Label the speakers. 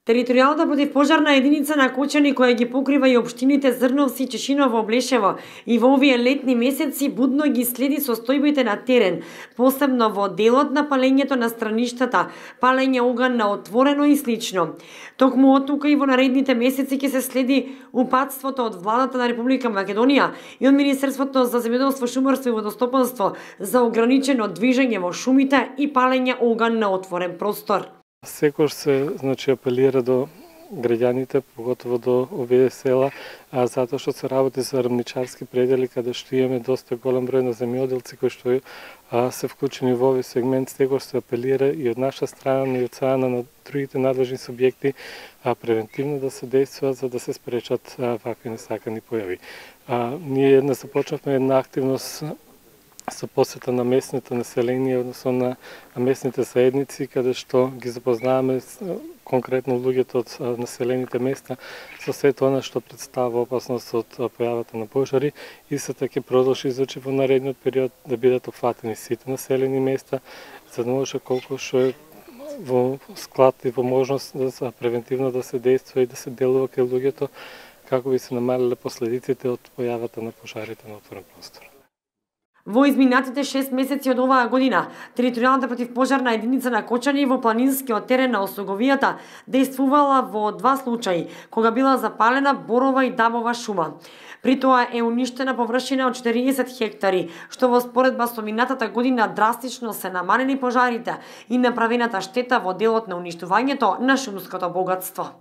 Speaker 1: Територијалната противпожарна единица на Кочани, која ги покрива и општините Зрновци, Чешиново, Блешево, и во овие летни месеци будно ги следи состојбите на терен, посебно во делот на палењето на страништата, палење оган на отворено и слично. Токму оттука и во наредните месеци ќе се следи упатството од владата на Република Македонија и од Министерството за земјоделство, шумарство и водостопанство за ограничено движење во шумите и палење оган на отворен простор.
Speaker 2: Секој се апелира до граѓаните, поготово до овие села, затоа што се работи за рамничарски предели, каде што имаме доста голем број на земјоделци кои што се вклучени во овој сегмент. Секој се апелира и од наша страна, и од страна на другите надлежни субјекти превентивно да се действува за да се спречат вакви несакани појави. Ние започнавме една активност со посета на местните население, односно на местните заедници, каде што ги запознаваме конкретно луѓето од населените места со сето она што представува опасност од појавата на пожари и сета ќе продолжи во наредниот период да бидат опфатени сите населени места, за да може колку што е во склад и во можност да превентивно да се действува и да се делува кај луѓето како би се намалиле последиците од појавата на пожарите на отворен простор.
Speaker 1: Во изминатите 6 месеци од оваа година, територијалната противпожарна единица на Кочани во планинскиот терен на Осоговијата действувала во 2 случаи, кога била запалена борова и дабова шума. При тоа е уништена површина од 40 хектари, што во споредба со минатата година драстично се намалени пожарите и направената штета во делот на уништувањето на шумското богатство.